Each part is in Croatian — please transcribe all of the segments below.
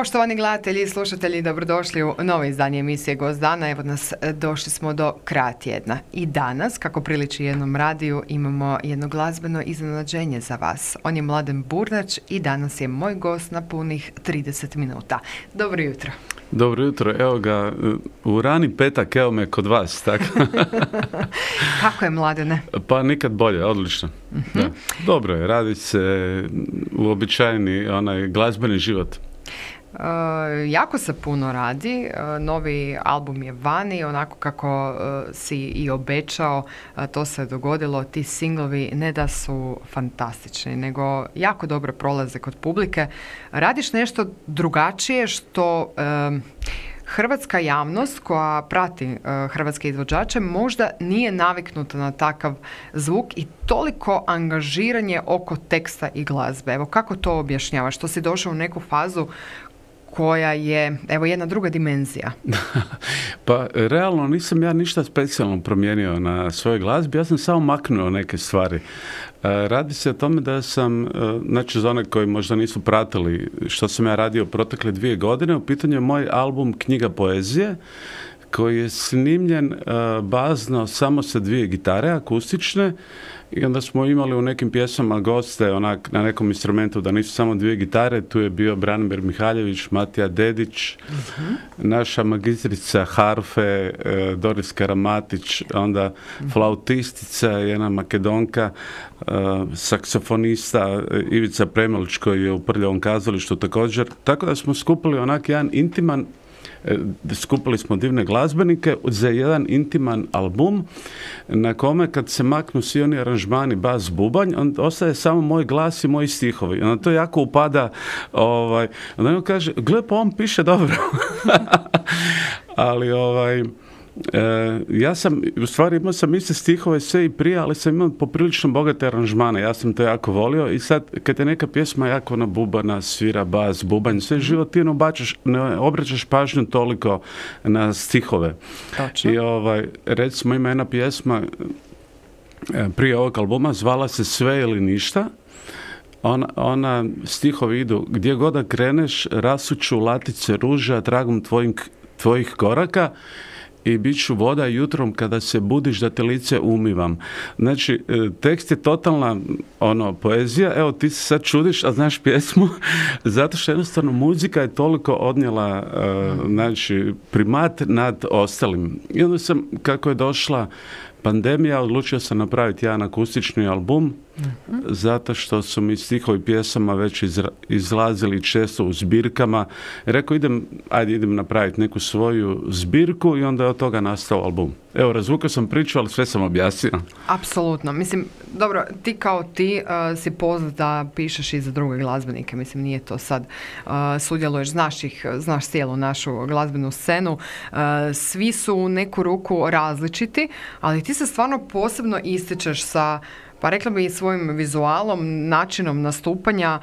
Poštovani gledatelji i slušatelji, dobrodošli u novo izdanje emisije Gost dana. Evo nas, došli smo do kraja tjedna. I danas, kako priliči jednom radiju, imamo jedno glazbeno iznenađenje za vas. On je Mladen Burnač i danas je moj gost na punih 30 minuta. Dobro jutro. Dobro jutro, evo ga, u rani petak, evo me kod vas, tako. Kako je, Mladene? Pa nikad bolje, odlično. Da. Dobro je, radi se uobičajeni glazbeni život. Jako se puno radi, novi album je vani, onako kako si i obećao, to se dogodilo, ti singlovi ne da su fantastični, nego jako dobro prolaze kod publike. Radiš nešto drugačije što hrvatska javnost koja prati hrvatske izvođače možda nije naviknuta na takav zvuk i toliko angažiranje oko teksta i glazbe. Evo, kako to objašnjavaš? Što si došao u neku fazu koja je, evo, jedna druga dimenzija? Pa, realno nisam ja ništa specijalno promijenio na svojoj glazbi, ja sam samo maknuo neke stvari. Radi se o tome da sam, znači za one koji možda nisu pratili što sam ja radio protekle 2 godine, u pitanju je moj album Knjiga poezije, koji je snimljen bazno samo sa 2 gitare akustične, i onda smo imali u nekim pjesama goste onak na nekom instrumentu da nisu samo 2 gitare, tu je bio Branimir Mihaljević, Matija Dedić, naša magistrica harfe Doris Karamatić, onda flautistica, jedna Makedonka, saksofonista Ivica Premelić koji je u Prljavom kazalištu također, tako da smo skupili onak jedan intiman, skupili smo divne glazbenike za jedan intiman album na kome kad se maknu svi oni aranžmani, bas, bubanj, onda ostaje samo moj glas i moji stihovi. Onda to jako upada, onda on kaže, gle, pa on piše dobro. Ali ja sam, u stvari imao sam iste stihove sve i prije, ali sam imao poprilično bogate aranžmane, ja sam to jako volio i sad kad je neka pjesma jako na bubana, svira, bas, bubanj, sve živo ti ne obraćaš pažnju toliko na stihove. Točno. I recimo ima jedna pjesma prije ovog albuma, zvala se Sve ili ništa. Ona stihovi idu, gdje god da kreneš, rasuću latice ruža tragom tvojih koraka, i bit ću voda jutrom kada se budiš da te lice umivam. Znači, tekst je totalna poezija. Evo, ti se sad čudiš, a znaš pjesmu, zato što jednostavno muzika je toliko odnijela primat nad ostalim. I onda sam, kako je došla pandemija, odlučio sam napraviti jedan akustični album, zato što su mi stihovi pjesama već izlazili često u zbirkama. Rekao, idem napraviti neku svoju zbirku i onda je od toga nastao album. Evo, razvukao sam priču, ali sve sam objasnio. Apsolutno. Mislim, dobro, ti kao ti si poznat da pišeš i za druge glazbenike. Mislim, nije to sad sudjeluješ, znaš cijelu našu glazbenu scenu. Svi su u neku ruku različiti, ali ti se stvarno posebno ističeš sa, pa rekla bi, i svojim vizualom, načinom nastupanja.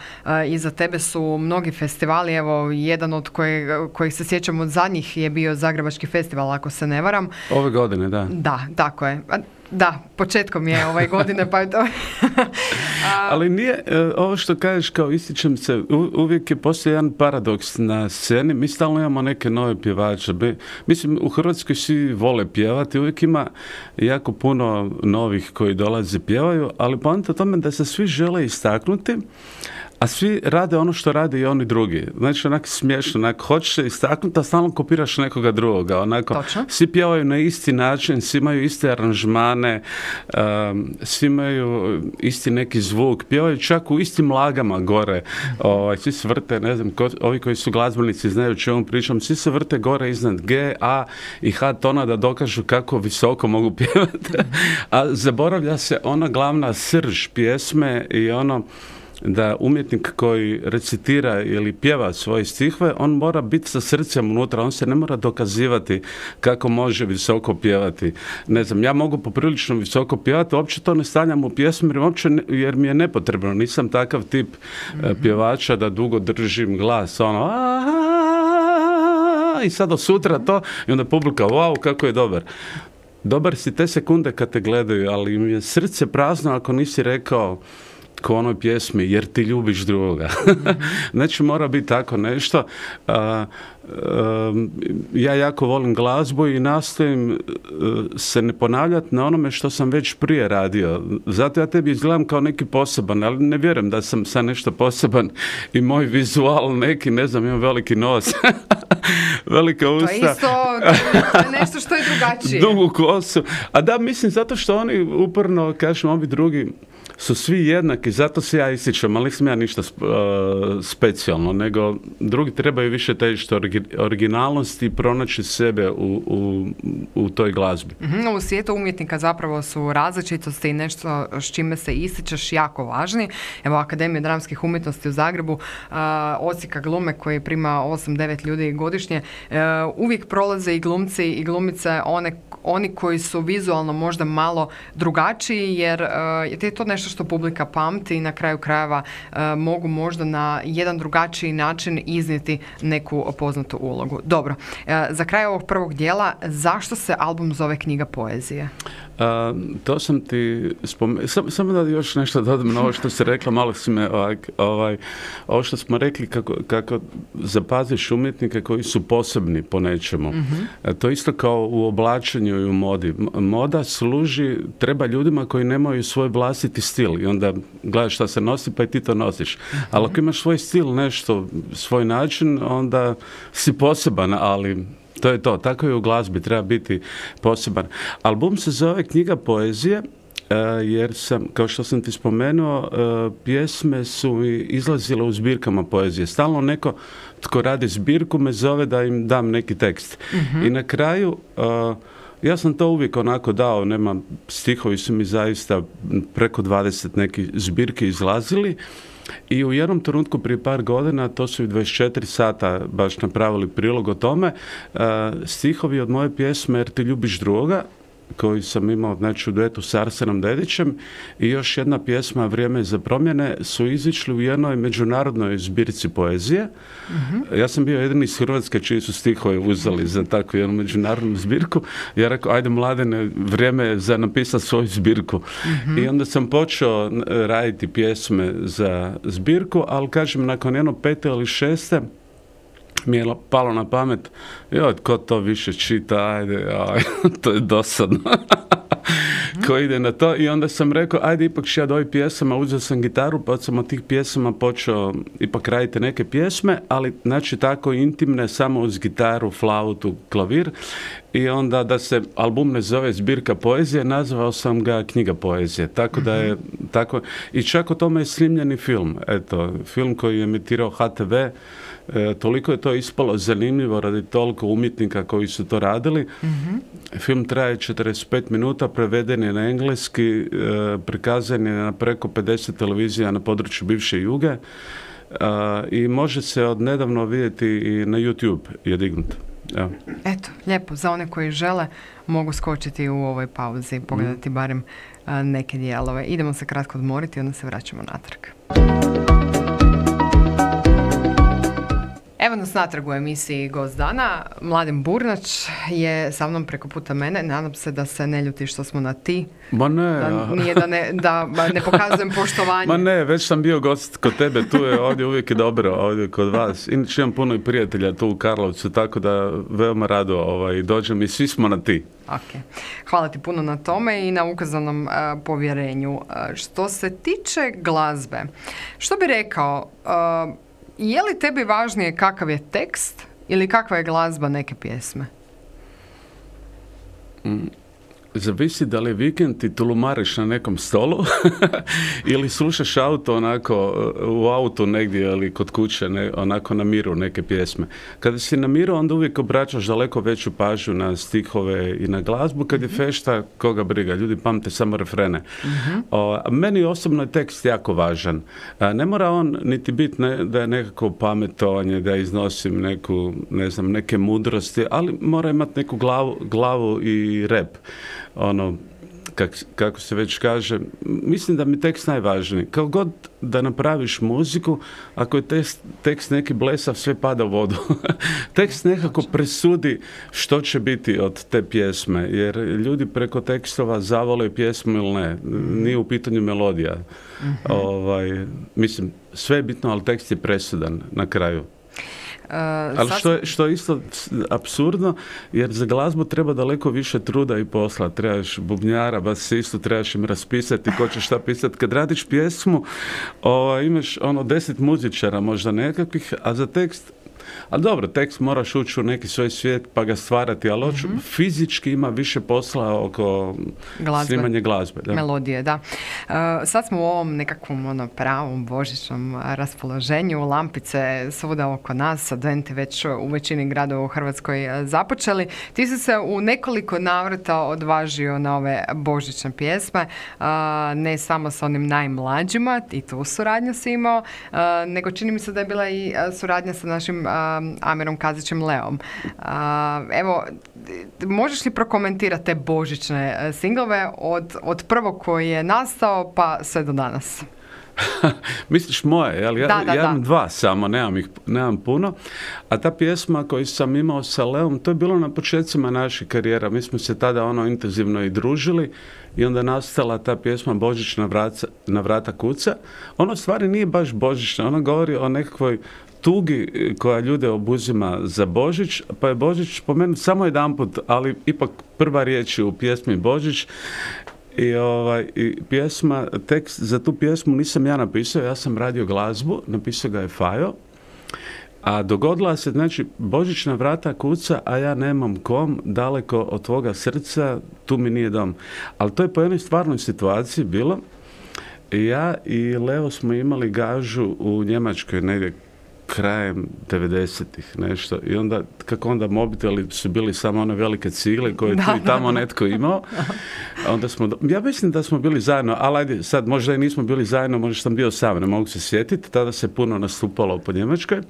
Iza tebe su mnogi festivali, evo, jedan od kojih se sjećam od zadnjih je bio Zagrebački festival, ako se ne varam. Ove godine, da. Da, tako je. Da, početkom je ove godine, pa je to. Ali nije, ovo što kažeš, kao ističem se, uvijek je postoji jedan paradoks na sceni. Mi stalno imamo neke nove pjevače. Mislim, u Hrvatskoj svi vole pjevati, uvijek ima jako puno novih koji dolaze pjevaju, ali poanta o tome da se svi žele istaknuti, a svi rade ono što rade i oni drugi. Znači, onako smiješno, onako hoćeš se istaknuti, a stalno kopiraš nekoga drugoga. Onako, točno. Svi pjevaju na isti način, svi imaju iste aranžmane, svi imaju isti neki zvuk, pjevaju čak u istim lagama gore. Svi se vrte, ne znam, ovi koji su glazbenici znaju o čemu pričam, svi se vrte gore iznad G, A i H tona da dokažu kako visoko mogu pjevati. A zaboravlja se ona glavna srž pjesme i da umjetnik koji recitira ili pjeva svoje stihove, on mora biti sa srcem unutra, on se ne mora dokazivati kako može visoko pjevati. Ne znam, ja mogu poprilično visoko pjevati, uopće to ne stavljam u pjesmu jer mi je nepotrebno, nisam takav tip pjevača da dugo držim glas, i sad do sutra to, i onda publika, wow, kako je dobar. Dobar si te sekunde kad te gledaju, ali im je srce prazno ako nisi rekao ko onoj pjesmi Jer ti ljubiš drugoga. Znači mora biti tako nešto. Ja jako volim glazbu i nastojim se ne ponavljati na onome što sam već prije radio. Zato ja tebi izgledam kao neki poseban, ali ne vjerujem da sam sad nešto poseban i moj vizual neki, ne znam, imam veliki nos. Velika usta. To je isto nešto što je drugačije. Dugu kosu. A da, mislim, zato što oni uporno, kažem, ovi drugi su svi jednaki, zato se ja ističem, ali nisam ja ništa specijalno, nego drugi trebaju više težiti originalnosti i pronaći sebe u toj glazbi. U svijetu umjetnika zapravo su različitosti i nešto s čime se ističeš jako važni. Evo, Akademija dramskih umjetnosti u Zagrebu, odsjeka glume koji prima 8-9 ljudi godišnje, uvijek prolaze i glumci i glumice, oni koji su vizualno možda malo drugačiji, jer je to nešto što publika pamti i na kraju krajeva mogu možda na jedan drugačiji način iznijeti neku poznatu ulogu. Dobro, za kraj ovog prvog dijela, zašto se album zove Knjiga poezije? To sam ti spomenuo. Samo da još nešto dodam na ovo što si rekla, malo si me ovo što smo rekli kako zapaziš umjetnike koji su posebni po nečemu. To isto kao u oblačenju i u modi. Moda treba ljudima koji nemaju svoj vlastiti stil i onda gledaš šta se nosi pa i ti to nosiš. Ali ako imaš svoj stil, nešto, svoj način, onda si poseban, ali to je to. Tako je u glazbi, treba biti poseban. Album se zove Knjiga poezije, jer sam, kao što sam ti spomenuo, pjesme su izlazile u zbirkama poezije. Stalno neko tko radi zbirku me zove da im dam neki tekst. I na kraju, ja sam to uvijek onako dao, nema, stihovi su mi zaista preko 20 nekih zbirki izlazili. I u jednom trenutku prije par godina, to su i 24 sata baš napravili prilog o tome, stihovi od moje pjesme Jer ti ljubiš drugoga, koji sam imao, znači, u duetu s Arsenom Dedićem, i još jedna pjesma Vrijeme za promjene su izišli u jednoj međunarodnoj zbirci poezije. Ja sam bio jedini iz Hrvatske čiji su stihove uzeli za takvu jednu međunarodnu zbirku. Ja rekao, ajde Mladene, vrijeme je za napisati svoju zbirku. I onda sam počeo raditi pjesme za zbirku, ali kažem, nakon jedno 5. ili 6. mi je palo na pamet, ko to više čita, ajde, to je dosadno. Ko ide na to, i onda sam rekao, ajde ipak ću ja od ovih pjesama, uzeo sam gitaru, pa sam od tih pjesama počeo ipak raditi neke pjesme, ali znači tako intimne, samo uz gitaru, flautu, klavir, i onda da se album ne zove Zbirka poezije, nazvao sam ga Knjiga poezije, tako da je tako, i čak o tome je snimljeni film, eto, film koji je emitirao HTV. Toliko je to ispalo zanimljivo radi toliko umjetnika koji su to radili. Film traje 45 minuta, preveden je na engleski, prikazan je na preko 50 televizija na području bivše Juge, i može se od nedavno vidjeti i na YouTube je dignut. Evo. Eto, lijepo, za one koji žele mogu skočiti u ovoj pauzi, pogledati barem neke dijelove. Idemo se kratko odmoriti i onda se vraćamo natrag. Evo nas natrag u emisiji Gost dana. Mladen Burnać je sa mnom preko puta mene. Nadam se da se ne ljuti što smo na ti. Ma ne. Da ne pokazujem poštovanje. Ma ne, već sam bio gost kod tebe. Tu je, ovdje uvijek je dobro, ovdje kod vas. Inače imam puno i prijatelja tu u Karlovcu, tako da veoma rado dođem i svi smo na ti. Okay. Hvala ti puno na tome i na ukazanom povjerenju. Što se tiče glazbe, što bi rekao, je li tebi važnije kakav je tekst ili kakva je glazba neke pjesme? Zavisi da li je vikend i tulumariš na nekom stolu ili slušaš auto onako u autu negdje ili kod kuće onako na miru neke pjesme. Kada si na miru, onda uvijek obraćaš daleko veću pažnju na stihove i na glazbu. Kad je fešta, koga briga, ljudi pamte samo refrene. Meni osobno je tekst jako važan. Ne mora on niti biti da je nekako pametovanje, da iznosim neku, ne znam, neke mudrosti, ali mora imati neku glavu i rep. kako se već kaže, mislim da mi tekst najvažniji. Kao god da napraviš muziku, ako je tekst neki blesav, sve pada u vodu. Tekst nekako presudi što će biti od te pjesme, jer ljudi preko tekstova zavole pjesmu ili ne. Nije u pitanju melodija. Mislim, sve je bitno, ali tekst je presudan na kraju. Ali što je isto apsurdno, jer za glazbu treba daleko više truda i posla. Trebaš bubnjara, basistu, trebaš im raspisati ko će šta pisati. Kad radiš pjesmu, imaš 10 muzičara možda nekakvih, a za tekst, ali dobro, tekst moraš ući u neki svoj svijet pa ga stvarati, ali fizički ima više posla oko snimanja glazbe. Da. Melodije, da. Sad smo u ovom nekakvom pravom božićnom raspoloženju, lampice svuda oko nas, adventi već u većini gradova u Hrvatskoj započeli. Ti si se u nekoliko navrata odvažio na ove božićne pjesme, ne samo sa onim najmlađima, i tu suradnju si imao, nego čini mi se da je bila i suradnja sa našim Amirom Kazićem Leom. Evo, možeš li prokomentirati te božićne singlove od prvog koji je nastao pa sve do danas? Misliš moje, jel? Ja imam 2 samo, nemam puno. A ta pjesma koju sam imao sa Leom, to je bilo na početcima naših karijera. Mi smo se tada intenzivno i družili i onda nastala ta pjesma Božić na vrata kuca. Ona stvari nije baš božićna, ona govori o nekakvoj tugi koja ljude obuzima za Božić, pa je Božić spomenut samo jedanput, ali ipak prva riječ je u pjesmi Božić. I pjesma, tekst za tu pjesmu nisam ja napisao, ja sam radio glazbu, napisao ga je Fajo, a dogodila se, znači, Božić na vrata kuca, a ja nemam kom, daleko od tvoga srca, tu mi nije dom. Ali to je po jednoj stvarnoj situaciji bilo. Ja i Leo smo imali gažu u Njemačkoj negdje krajem 90-ih nešto. I onda, kako onda mobiteli su bili samo one velike cigle koje tu i tamo netko imao. Onda smo, ja mislim da smo bili zajedno, ali ajde, sad možda i nismo bili zajedno, možda sam bio sam, ne mogu se sjetiti. Tada se puno nastupalo po Njemačkoj.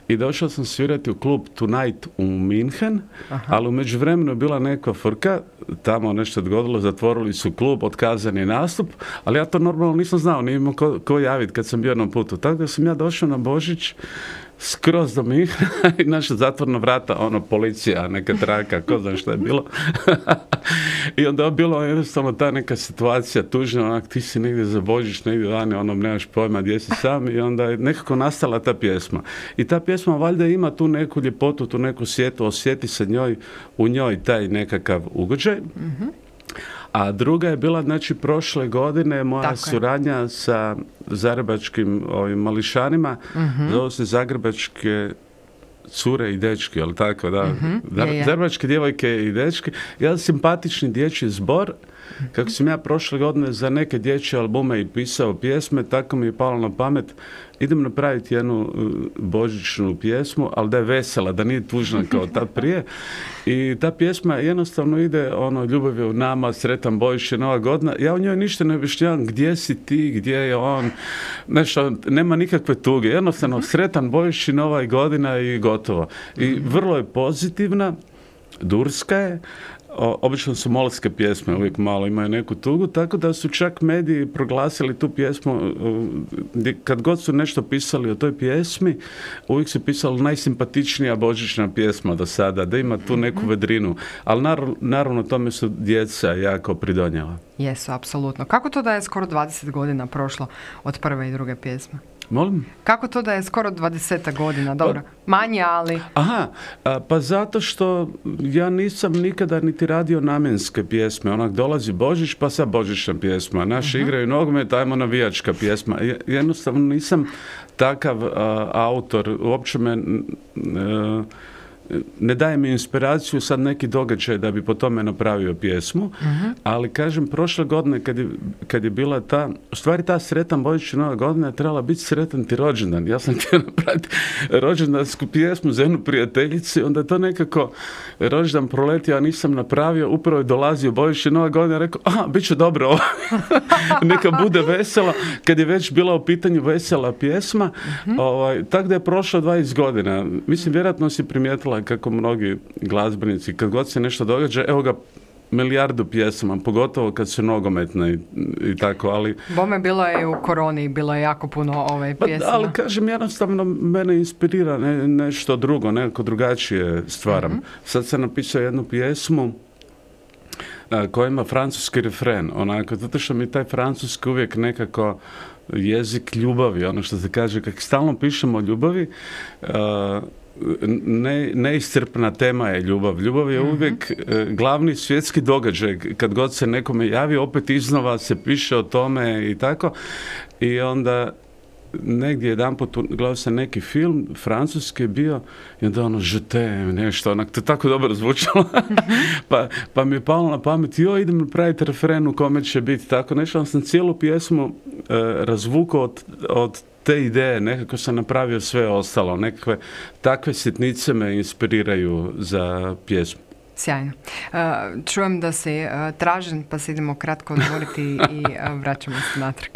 I došao sam svirati u klub Tonight u Minhen, ali u međuvremenu je bila neka frka, tamo nešto dogodilo, zatvorili su klub, otkazan je nastup, ali ja to normalno nisam znao, nije imao ko javiti kad sam bio na putu. Tako da sam ja došao na Božić skroz do Minhena i naša zatvorna vrata, policija, neka traka, ko zna što je bilo. I onda je bilo jednostavno ta neka situacija tužna, ti si negdje za Božić, negdje vani, nemaš pojma gdje si sam, i onda je nekako nastala ta pjesma. I ta pjesma valjda ima tu neku ljepotu, tu neku sjetu, osjeti se u njoj taj nekakav ugođaj. A druga je bila, znači, prošle godine moja suradnja sa zagrebačkim mališanima, zove se Zagrebačke cure i dečki, ali tako, da. Zagrebačke djevojke i dečki. Jedan simpatični dječji zbor. Kako sam ja prošle godine za neke dječje albume i pisao pjesme, tako mi je palo na pamet, idem napraviti jednu božićnu pjesmu, ali da je vesela, da nije tužna kao ta prije. I ta pjesma jednostavno ide, ljubav je u nama, sretan Božić je Nova godina. Ja u njoj ništa ne objašnjavam gdje si ti, gdje je on, nešto, nema nikakve tuge. Jednostavno, sretan Božić i Nova godina i gotovo. I vrlo je pozitivna, durska je. Obično su molske pjesme, uvijek malo imaju neku tugu, tako da su čak mediji proglasili tu pjesmu, kad god su nešto pisali o toj pjesmi, uvijek su pisali najsimpatičnija božićna pjesma do sada, da ima tu neku vedrinu, ali naravno tome su djeca jako pridonjela. Jesu, apsolutno. Kako to da je skoro 20 godina prošlo od prve i druge pjesme? Molim? Kako to da je skoro 20 godina? Dobro, manje, ali... Pa zato što ja nisam nikada niti radio namjenske pjesme. Onak dolazi Božić, pa sad božićna pjesma. Naši igraju nogomet, ajmo navijačka pjesma. Jednostavno nisam takav autor. Uopće me... ne daje mi inspiraciju sad neki događaj da bi po tome napravio pjesmu, ali kažem, prošle godine kad je bila u stvari ta sretan Božić i Nova godina je trebala biti sretan ti rođendan. Ja sam htio napraviti rođendansku pjesmu za jednu prijateljicu, onda je to nekako rođendan proletio, a nisam napravio, upravo je dolazio Božić i Nova godina, rekao, bit će dobro ovo. Neka bude vesela, kad je već bila u pitanju vesela pjesma, tako da je prošlo 20 godina. Mislim, vjerojatno si primijetila kako mnogi glazbenici, kad god se nešto događa, evo ga, milijardu pjesama, pogotovo kad su nogometne i tako, ali... Bome, bilo je u koroni, bilo je jako puno pjesama. Ali kažem, jednostavno mene inspirira nešto drugo, nekako drugačije stvaram. Sad sam napisao jednu pjesmu koja ima francuski refren, onako, zato što mi taj francuski uvijek nekako jezik ljubavi, ono što se kaže, kako stalno pišemo o ljubavi, neiscrpna tema je ljubav. Ljubav je uvijek glavni svjetski događaj. Kad god se nekome javi, opet iznova se piše o tome i tako. I onda negdje jedanput gledao sam neki film, francuski je bio, i onda ono, je t'aime, nešto, onak, to je tako dobro zvučalo. pa mi je palo na pamet, idem napraviti refren u kome će biti tako nešto. Onda sam cijelu pjesmu razvukao od te ideje, nekako sam napravio sve ostalo, nekakve takve sitnice me inspiriraju za pjesmu. Sjajno. Čujem da si tražen, pa se idemo kratko odmoriti i vraćamo se natrag.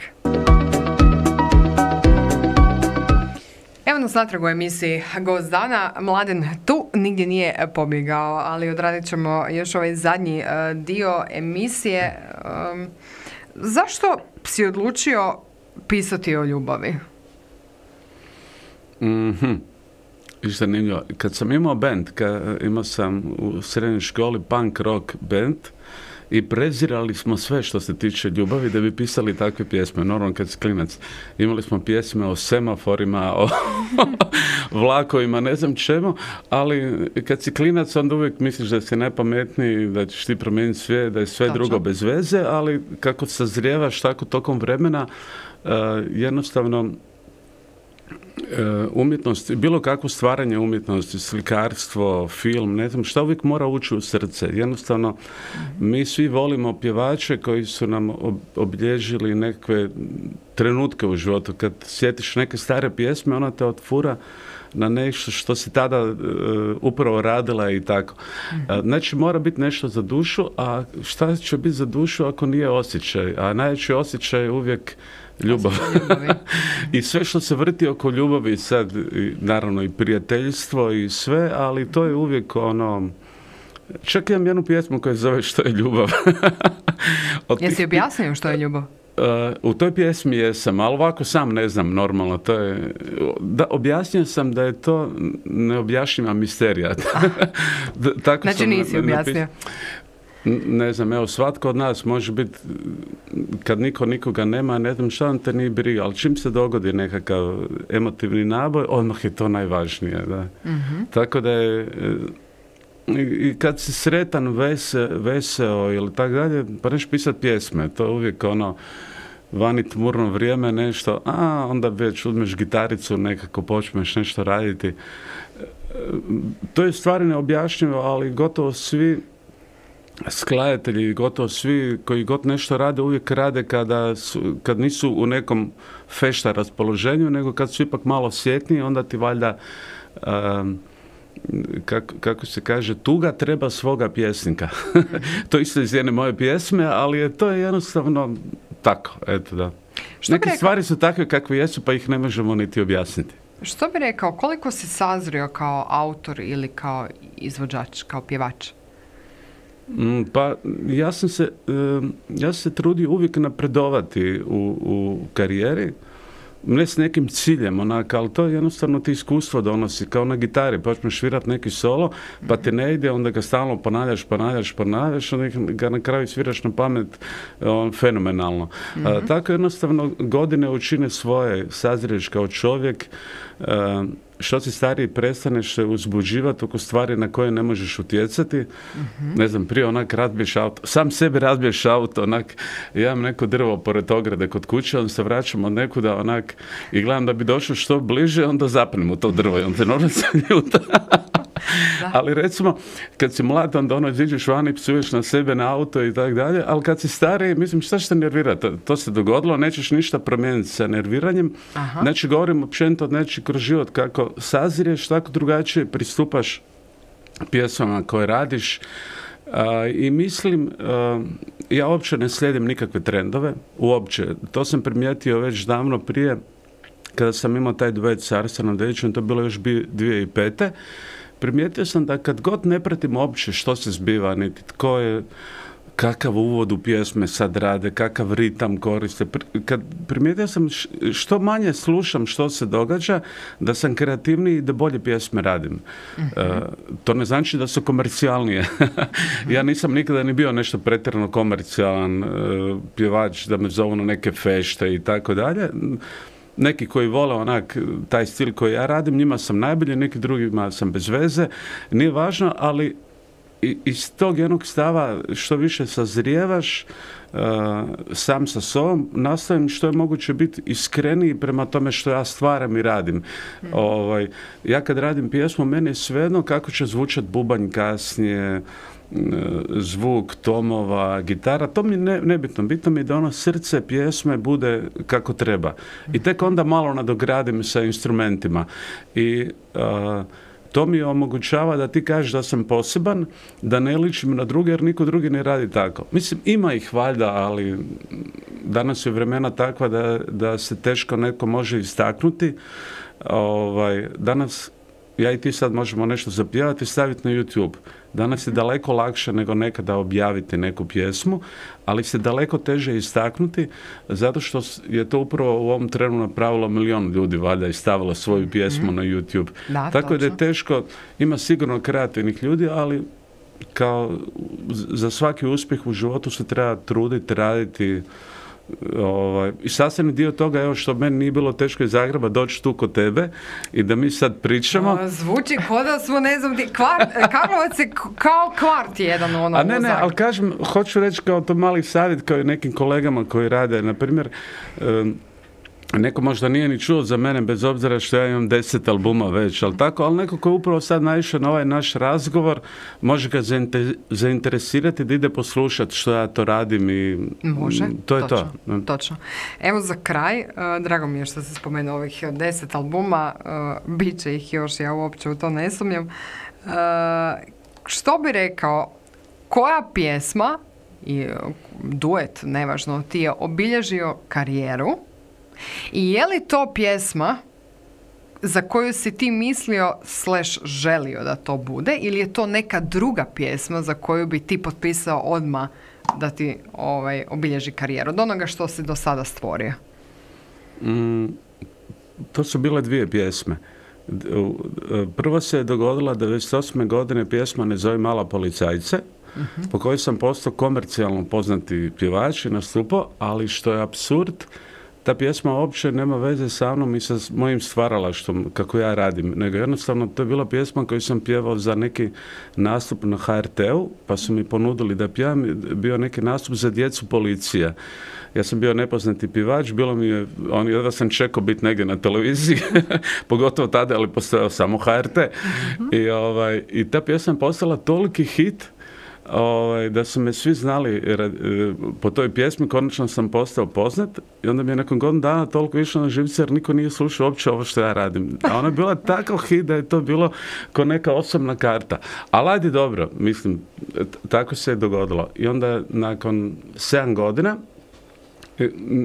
Evo nas natrag u emisiji Gost dana. Mladen tu nigdje nije pobjegao, ali odradit ćemo još ovaj zadnji dio emisije. Zašto si odlučio pisati o ljubavi? Zanimljivo. Kad sam imao band, imao sam u srednjoj školi punk rock band i prezirali smo sve što se tiče ljubavi da bi pisali takve pjesme. Normalno kad si klinac. Imali smo pjesme o semaforima, o vlakovima, ne znam čemu, ali kad si klinac onda uvijek misliš da si najpametniji, da ćeš ti promijeniti sve, da je sve drugo bez veze, ali kako sazrijevaš tako tokom vremena, jednostavno umjetnost, bilo kakvo stvaranje umjetnosti, slikarstvo, film, ne znam šta, uvijek mora ući u srce. Jednostavno, mi svi volimo pjevače koji su nam obilježili nekakve trenutke u životu. Kad sjetiš neke stare pjesme, ona te otfura na nešto što si tada upravo radila i tako. Znači, mora biti nešto za dušu, a šta će biti za dušu ako nije osjećaj? A najveći osjećaj je uvijek ljubav. I sve što se vrti oko ljubavi, sad naravno i prijateljstvo i sve, ali to je uvijek ono... Čak imam jednu pjesmu koja zove Što je ljubav. Jesi objasnio što je ljubav? U toj pjesmi jesam, ali ovako sam ne znam normalno. To je, objasnio sam da je to neobjašnjiva misterija. Tako znači nisi objasnio. Ne znam, evo, svatko od nas može biti, kad nikoga nema, ne znam šta, on te nije briga, ali čim se dogodi nekakav emotivni naboj, odmah je to najvažnije. Da. Tako da je, i kad si sretan, veseo ili tako dalje, pa neš pisati pjesme, to je uvijek ono, vani tmurno vrijeme, nešto, onda već uzmeš gitaricu, nekako počneš nešto raditi. To je stvari neobjašnjivo, ali gotovo svi skladatelji, gotovo svi koji god nešto rade, uvijek rade kad nisu u nekom fešta raspoloženju, nego kad su ipak malo sjetniji, onda ti valjda, kako se kaže, tuga treba svoga pjesnika. To isto iz jedne moje pjesme, ali to je jednostavno tako, eto da. Neke stvari su takve kakve jesu, pa ih ne možemo niti objasniti. Što bi rekao, koliko si sazrio kao autor ili kao izvođač, kao pjevač? Pa ja sam se trudio uvijek napredovati u karijeri, ne s nekim ciljem, ali to jednostavno ti iskustvo donosi, kao na gitari, počneš svirati neki solo, pa ti ne ide, onda ga stalno ponavljaš, onda ga na kraju sviraš na pamet fenomenalno. Tako jednostavno godine učine svoje, sazriješ kao čovjek, što si stariji prestaneš se uzbuđivati oko stvari na koje ne možeš utjecati. Ne znam, prije razbiješ auto, sam sebi razbiješ auto, ja imam neko drvo pored ograde kod kuće, onda se vraćam od nekuda, i gledam da bi došao što bliže, onda zapnem u to drvo i onda te normalno se ljuta. Ali recimo, kad si mlad, onda iziđeš van i psuješ na sebe, na auto i tako dalje, ali kad si stariji, mislim, šta će te nervirati? To se dogodilo, nećeš ništa promijeniti sa nerviranjem. Znači, govorim općenito, znači, kroz život, kako sazriješ, tako drugačije pristupaš pjesmama koje radiš. I mislim, ja uopće ne slijedim nikakve trendove, uopće. To sam primijetio već davno prije, kada sam imao taj duet s Arsenom Dedićem, to je bilo još 2005. primijetio sam da kad god ne pratim uopće što se zbiva, niti tko je, kakav uvod u pjesme sad rade, kakav ritam koriste. Kad primijetio sam što manje slušam što se događa, da sam kreativniji i da bolje pjesme radim. To ne znači da su komercijalnije. Ja nisam nikada ni bio nešto pretjerano komercijalan pjevač, da me zovu na neke fešte i tako dalje. Neki koji vole onak taj stil koji ja radim, njima sam najbolji, neki drugima sam bez veze. Nije važno, ali iz tog jednog stava što više sazrijevaš sam sa sobom, nastavim što je moguće biti iskreniji prema tome što ja stvaram i radim. Ja kad radim pjesmu, meni je svejedno kako će zvučati bubanj kasnije, zvuk, tomova, gitara, to mi nebitno. Bitno mi je da ono srce pjesme bude kako treba. I tek onda malo nadogradim sa instrumentima. I to mi omogućava da ti kažeš da sam poseban, da ne ličim na druge, jer niko drugi ne radi tako. Mislim, ima ih valjda, ali danas je vremena takva da se teško neko može istaknuti. Danas ja i ti sad možemo nešto zapjevati i staviti na YouTube. Danas je daleko lakše nego nekada objaviti neku pjesmu, ali se daleko teže istaknuti, zato što je to upravo u ovom trenu napravilo 1 milion ljudi valjda i stavilo svoju pjesmu na YouTube. Tako da je teško, ima sigurno kreativnih ljudi, ali kao za svaki uspjeh u životu se treba truditi, raditi. I sastavni dio toga je što meni nije bilo teško iz Zagreba doći tu kod tebe i da mi sad pričamo. Zvuči kao da smo, ne znam, Karlovac je kao kvart jedan ono. A ne, ali kažem, hoću reći kao to mali savjet kao i nekim kolegama koji rade, na primjer, neko možda nije ni čuo za mene, bez obzira što ja imam 10 albuma već, ali neko koji je upravo sad naišao na ovaj naš razgovor, može ga zainteresirati da ide poslušati što ja to radim i može, to je točno, to. Točno. Evo za kraj, drago mi je što se spomenuo ovih 10 albuma, bit će ih još, ja uopće u to ne sumnjam. Što bi rekao, koja pjesma i duet, nevažno, ti je obilježio karijeru? I je li to pjesma za koju si ti mislio / želio da to bude, ili je to neka druga pjesma za koju bi ti potpisao odmah da ti obilježi karijeru od onoga što si do sada stvorio? To su bile 2 pjesme. Prvo se je dogodila 98. godine pjesma Ne zovi mala policajce, po kojoj sam postao komercijalno poznati pjevač i nastupao, ali što je apsurd, ta pjesma uopće nema veze sa mnom i sa mojim stvaralaštvom, kako ja radim, nego jednostavno to je bila pjesma koju sam pjevao za neki nastup na HRT-u, pa su mi ponudili da pjevam, bio neki nastup za djecu policija. Ja sam bio nepoznati pjevač, bilo mi je, jedva sam čekao biti negdje na televiziji, pogotovo tada, ali postojao samo HRT. I ta pjesma postala toliki hit, da su me svi znali po toj pjesmi, konačno sam postao poznat i onda mi je nakon godinu dana toliko išlo na živce jer niko nije slušao uopće ovo što ja radim. A ona je bila takav hit da je to bilo ko neka osobna karta. Ali ajde dobro, mislim, tako se je dogodilo. I onda nakon 7 godina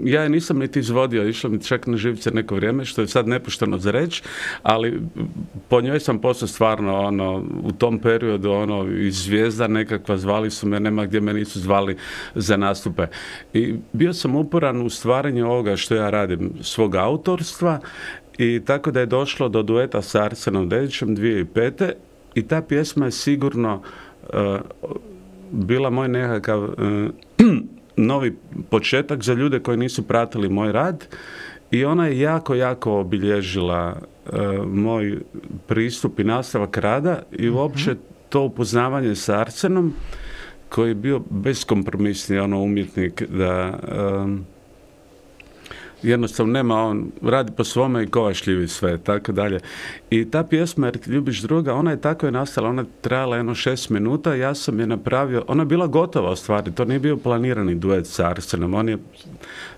ja je nisam niti izvodio, išlo mi čak na živce neko vrijeme, što je sad nepošteno za reći, ali po njoj sam postao stvarno u tom periodu i zvijezda nekakva, zvali su me, nema gdje me nisu zvali za nastupe. I bio sam uporan u stvaranju ovoga što ja radim, svog autorstva, i tako da je došlo do dueta sa Arsenom Dedićem 2005. I ta pjesma je sigurno bila moj nekakav novi početak za ljude koji nisu pratili moj rad, i ona je jako, jako obilježila moj pristup i nastavak rada i uopće to upoznavanje sa Arsenom, koji je bio beskompromisni umjetnik, da jednostavno nema, on radi po svome i kovašljivi sve, tako dalje. I ta pjesma Jer ti ljubiš druga, ona je tako je nastala, ona je trajala 6 minuta, ja sam je napravio, ona je bila gotova u stvari, to nije bio planirani duet sa Arsenom, on je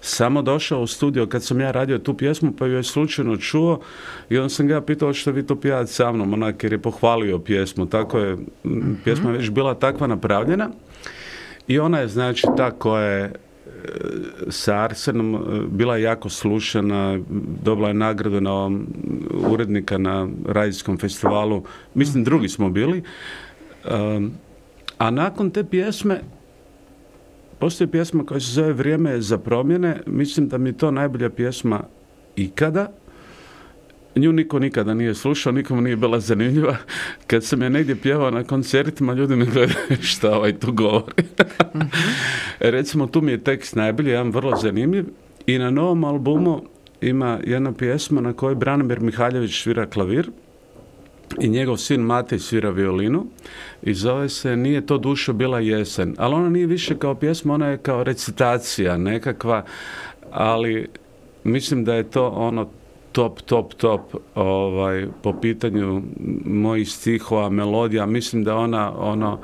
samo došao u studio kad sam ja radio tu pjesmu, pa ju je slučajno čuo i onda sam ga pitao što vi to pjevati sa mnom, jer je pohvalio pjesmu, tako je, pjesma je već bila takva napravljena i ona je znači ta koja je sa Arsenom, bila je jako slušana, dobila je nagradu na urednika na Radijskom festivalu, mislim drugi smo bili, a nakon te pjesme postoji pjesma koja se zove Vrijeme za promjene, mislim da mi je to najbolja pjesma ikada. Nju niko nikada nije slušao, nikomu nije bila zanimljiva. Kad sam je negdje pjevao na koncertima, ljudi mi gledaju šta ovaj tu govori. Recimo, tu mi je tekst najbolji, jedan vrlo zanimljiv. I na novom albumu ima jedna pjesma na kojoj Branimir Mihaljević svira klavir i njegov sin Matej svira violinu i zove se Nije to dušo bila jesen. Ali ona nije više kao pjesma, ona je kao recitacija nekakva, ali mislim da je to ono top po pitanju mojih stihova, melodija, mislim da ona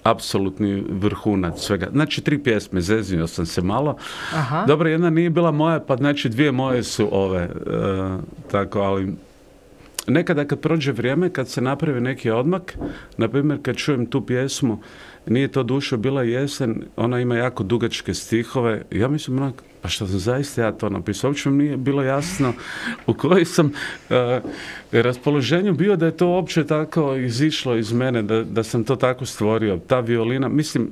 apsolutni vrhunac svega. Znači 3 pjesme, zeznio sam se malo. Aha. Dobro, jedna nije bila moja, pa znači 2 moje su ove. Tako, ali nekada kad prođe vrijeme, kad se napravi neki odmak, na primjer kad čujem tu pjesmu Nije to dušo bila jesen, ona ima jako dugačke stihove, ja mislim pa što sam zaista ja to napisao, uopće mi nije bilo jasno u kojoj sam raspoloženju bio da je to uopće tako izišlo iz mene, da sam to tako stvorio. Ta violina, mislim,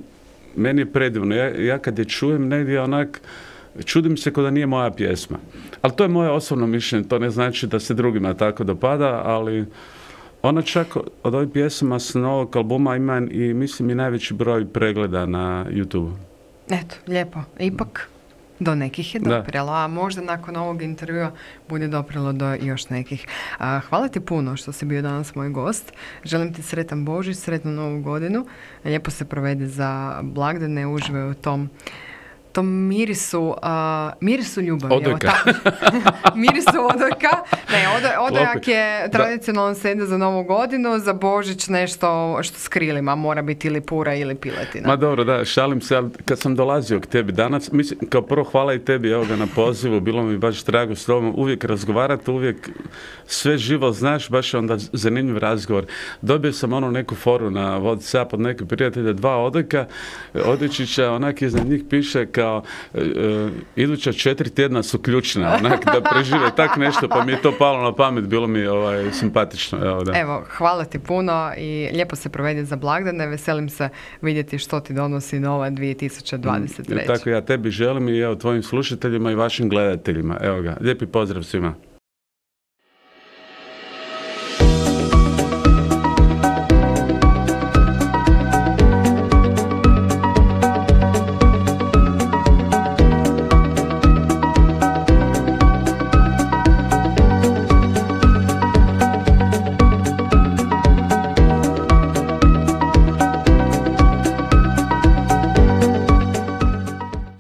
meni je predivno. Ja kad je čujem negdje onak, čudim se kao da nije moja pjesma. Ali to je moje osobno mišljenje, to ne znači da se drugima tako dopada, ali ona čak od ovih pjesama s novog albuma ima i mislim i najveći broj pregleda na YouTube. Eto, lijepo. Ipak do nekih je doprelo, a možda nakon ovog intervjua bude doprelo do još nekih. Hvala ti puno što si bio danas moj gost. Želim ti sretan Božić, sretnu Novu godinu. Lijepo se provede za blagdane, uživaj u tom mirisu ljubavi. Odojka. Mirisu odojka. Ne, odojak je tradicionalno sjede za Novu godinu, za Božić nešto što s krilima mora biti ili pura ili piletina. Ma dobro, da, šalim se, ali kad sam dolazio k tebi danas, mislim, kao prvo hvala i tebi, evo ga na pozivu, bilo mi baš drago s tobom uvijek razgovarati, uvijek sve živo znaš, baš je onda zanimljiv razgovor. Dobio sam neku foru na WhatsApp od nekih prijatelja, 2 odojka, odojčića, onak iznad njih piše kao iduća 4 tjedna su ključna, onak da prežive tak nešto, pa mi je to palo na pamet, bilo mi simpatično. Evo, hvala ti puno i lijepo se provedi za blagdane, veselim se vidjeti što ti donosi nova 2023. Tako ja tebi želim i tvojim slušateljima i vašim gledateljima. Evo ga, lijepi pozdrav svima.